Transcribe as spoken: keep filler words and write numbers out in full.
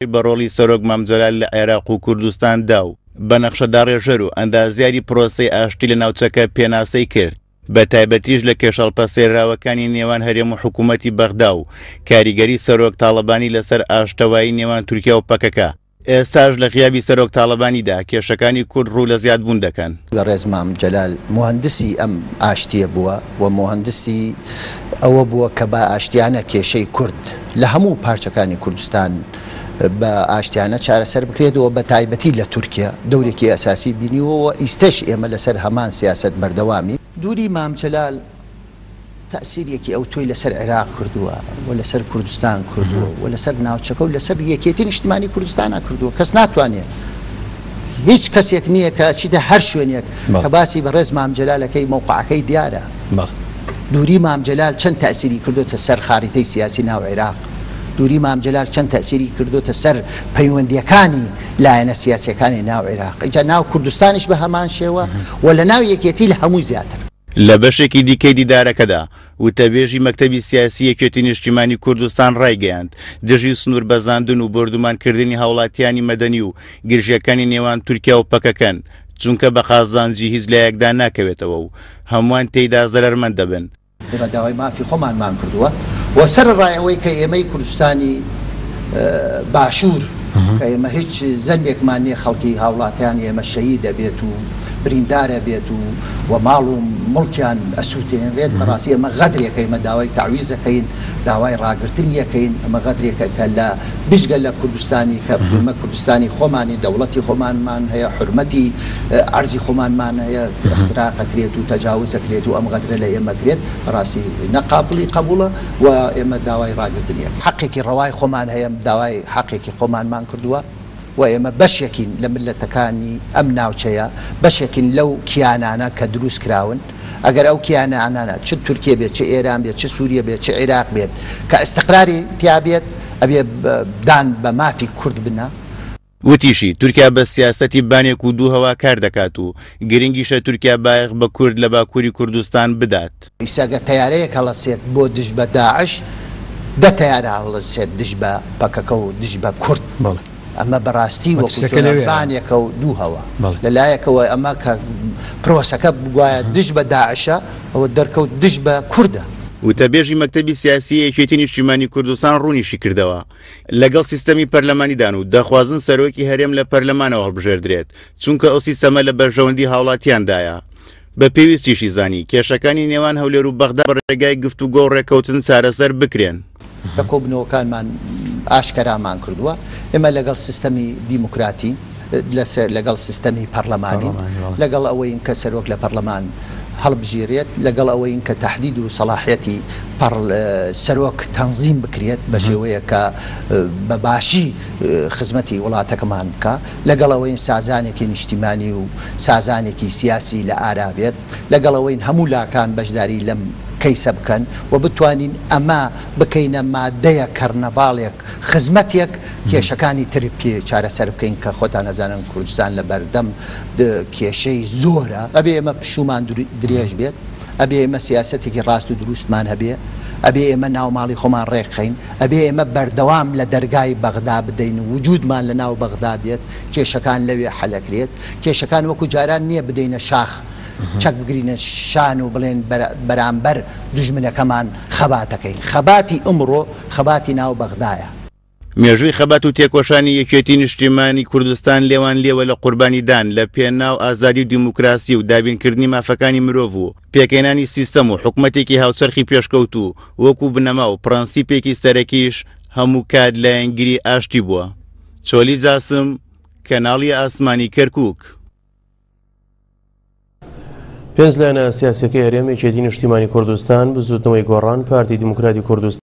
بە ڕۆڵی سەرۆک مام جەلال لە عێراق و کوردستان دا و بە نەخشەداڕێژەر و ئەندازیاری پرۆسەی ئاشتی لە ناوچەکە پێناسەی کرد، بە تایبەتیش لە کێشە هەڵپەسێراوەکانی نێوان هەرێم و حکوومەتی بەغدا و کاریگەری سەرۆک تاڵەبانی لەسەر ئاشتەوایی نێوان تورکیا و پەکەکە. ئێستاش لە غیابی سەرۆک تاڵەبانیدا کێشەکانی کورد ڕوو لە زیادبوون دەکەن. بەڕێز مام جەلال موهەندسی ئەم ئاشتییە بووە و موهەندسی ئەوە بووە کە بە ئاشتیانە کێشەی کورد لە هەموو پارچەکانی کوردستان بە ئاشتیانە چارەسەر بکرێت و بە تایبەتی لە تورکیا دەورێکی ئەساسی بینیوە و ئیستەش ئێمە لەسەر هەمان سیاسەت بەردەوامین. دووری مام جەلال تەئسیرێکی ئەوتۆی لەسەر عێراق کردووە و لەسەر کوردستان کردووە و لەسەر ناوچەکە و لەسەر یەکێتی نیشتمانی کوردستانە کردووە. کەس ناتوانێت، هیچ کەسێک نییە کە چیتە هەر شوێنێک کە باسی بەڕێز مام جەلالەکەی مەوقعەکەی دیارە. دووری مام جەلال چەند تەئسیری کردوتە سەر خاریتەی سیاسی ناو عێراق، دووری مام جەلال چەند تەئسیری کردوتە سەر پەیوەندیەکانی لایەنە سیاسیەکانی ناو عێراق، ئینجا ناو کوردستانیش بە هەمان شێوە و لە ناو یەکێتی لە هەمووی زیاتر. لە بەشێکی دیکەی دیدارەکەدا وتەبێژی مەکتەبی سیاسی یەکێتی نیشتیمانی کوردستان ڕایگەیاند دژی سنوور بەزاندن و بۆردومانکردنی هاوڵاتیانی مەدەنی و گرژیەکانی نێوان تورکیا و پەکەکەن، چونکە بە قازانجی هیچ لایەکدا ناکەوێتەوە و هەمووان تێیدا زەرەرمەند دەبن. ئێمە داوای مافی خۆمانمان کردووە و سەر ڕای ئەوەی کە ئێمەی کوردستانی باشوور کە ئێمە هیچ زەنبێکمان نییە، خەڵکی هاوڵاتیان ئێمە شەهید دەبێت و بریندارە بێت و و ماڵ و مڵکیان ئەسووتێنرێت، بەڕاستی ئەمە غەدرێکە. ئێمە داوای تەعویز دەکەین، داوای ڕاگرتن یەکەین. ئەمە غەدرێکە کە لە بجگە لە کوردستانی کە ئێمە کوردستانی خۆمانی، دەوڵەتی خۆمانمان هەیە، حرمەتی عەرزی خۆمانمان هەیە، اختراق ئەکرێت و تەجاوز ئەکرێت و ئەم غەدرە لە ئێمە کرێت، بەڕاستی نەقابلی قبوڵە و ئێمە داوای ڕاگرتن یەکەین. حەقێکی ڕەوای خۆمان هەیە، داوای حەقێکی خۆمانمان کردووە و ئێمە بەشێکین لە ملەتەکانی ئەم ناوچەیە، بەشێکین لەو کیانانە کە دروست کراون. ئەگەر ئەو کیانانە چ تورکیە بێت، چ ئێران بێت، چ سووریە بێت، چ عێراق بێت کە ئەستقراری تیا بێت، ئەبێ دان بە مافی کورد بنە. وتیشی تورکیا بە سیاسەتی بانێک و دوو هەوا کار دەکات و گرنگیشە تورکیا بایەخ بە کورد لە باکووری کوردستان بدات. ئیساگە تەیارەیەک هەڵەسێت بۆ دژ بە داعش، دە تەیارە هەڵەسێت دژ بە پەکەکە و دژ بە کورد. ئەمە بەڕاستی وەکو بانێکە و دوو هەوا. لەلایەکەوە ئەمە کە پرۆسەکە بگوایە دژ بە داعشە، ئەوە دەرکەوت دژ بە کوردە. وتەبێژی مەکتەبی سیاسی یەکێتی نیشتیمانی کوردستان ڕوونیشی کردەوە لەگەڵ سیستەمی پەرلەمانیدان و دەخوازن سەرۆکی هەرێم لە پەرلەمانەوە هەڵبژێردرێت، چونکە ئەو سیستەمە لە بەرژەوەندی هاوڵاتیاندایە. بە پێویستیشی زانی کێشەکانی نێوان هەولێر و بەغدا بە ڕێگای گفتوگۆ و ڕێککەوتن چارەسەر بکرێن. لە کۆبنەوەکانمان ئاشکەرامان کردووە ئێمە لەگەڵ سیستەمی دیموکراتی، لەگەڵ سیستەمی پەرلەمانی، لەگەڵ ئەوەین کە سەرۆک لە پەرلەمان هەڵبژێرێت، لەگەڵ ئەوەین کە تەحدید و سەلاحیەتی سەرۆک تەنزیم بکرێت بە شێوەیە کە بە باشی خزمەتی وڵاتەکەمان بکە، لەگەڵ ئەوەین سازانێکی نیشتیمانی و سازانێکی سیاسی لە ئارا بێت، لەگەڵ ئەوەین هەموو لاکان بەشداری لەم کەیسە بکەن و بتوانین ئەمە بکەینە مادەیە کەرنەڤاڵێک خزمەتێک کێشەکانی تر پێ چارەسەر بکەین کە خۆتان ئەزانن کوردستان لە بەردەم کێشەی زۆرە. ئەبێ ئێمە پشومان درێژ بێت، ئەبێ ئێمە سیاسەتێکی ڕاست و دروستمان هەبێ، ئەبێ ئێمە ناوماڵی خۆمان ڕێکخەین، ئەبێ ئێمە بەردەوام لە دەرگای بەغدا بدەین و وجودمان لە ناو بەغدا بێت، کێشەکان لەوێ حەلەکرێت. کێشەکان وەکو جاران نییە بدەینە شاخ، چەک بگرینە شان و بڵێن بەرامبەر دوژمنەکەمان خەباتەکەین. خەباتی ئمڕۆ خەباتی ناو بەغدایە. مێژووی خەبات و تێکۆشانی یەکێتی نیشتیمانی کوردستان لێوان لێوە لە قوربانیدان لە پێناو ئازادی و دیموکراسی و دابینکردنی مافەکانی مرۆڤ و پێکهێنانی سیستەم و حکومەتێکی هاوچەرخی پێشکەوتوو وەکو بنەما و پرەنسیپێکی سەرەکیش هەموو کات لایەنگری ئاشتی بووە. چۆلی جاسم، کەناڵی ئاسمانی کەرکووک. پێنج لایەنە سیاسیەکەی هەرێم، یەکێتی نیشتیمانی کوردستان، بزوتنەوەی گۆڕان، پارتی دیموکراتی کوردستان